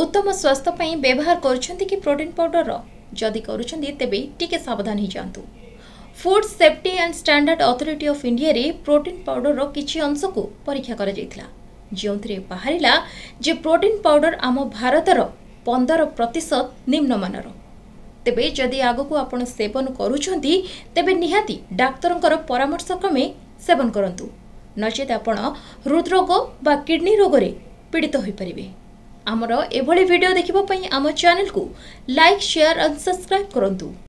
ଉତ୍ତମ ସ୍ୱାସ୍ଥ୍ୟ ପାଇଁ ବ୍ୟବହାର କରୁଛନ୍ତି କି ପ୍ରୋଟିନ୍ ପାଉଡରର? ଯଦି କରୁଛନ୍ତି, ତେବେ ଟିକେ ସାବଧାନ ହେଇଯାଆନ୍ତୁ। Food Safety and Standard Authority of ଇଣ୍ଡିଆରେ ପ୍ରୋଟିନ୍ ପାଉଡରର କିଛି ଅଂଶକୁ ପରୀକ୍ଷା କରାଯାଇଥିଲା, ଯେଉଁଥିରେ ବାହାରିଲା ଯେ ପ୍ରୋଟିନ୍ ପାଉଡର ଆମ ଭାରତର 15% ନିମ୍ନମାନର। ତେବେ ଯଦି ଆଗକୁ ଆପଣ ସେବନ କରୁଛନ୍ତି, ତେବେ ନିହାତି ଡାକ୍ତରଙ୍କର ପରାମର୍ଶ କ୍ରମେ ସେବନ କରନ୍ତୁ, ନଚେତ୍ ଆପଣ ହୃଦରୋଗ ବା କିଡନୀ ରୋଗରେ ପୀଡ଼ିତ ହୋଇପାରିବେ। ଆମର ଏଭଳି ଭିଡ଼ିଓ ଦେଖିବା ପାଇଁ ଆମ ଚ୍ୟାନେଲକୁ ଲାଇକ୍, ସେୟାର ଆଣ୍ଡ ସବସ୍କ୍ରାଇବ୍ କରନ୍ତୁ।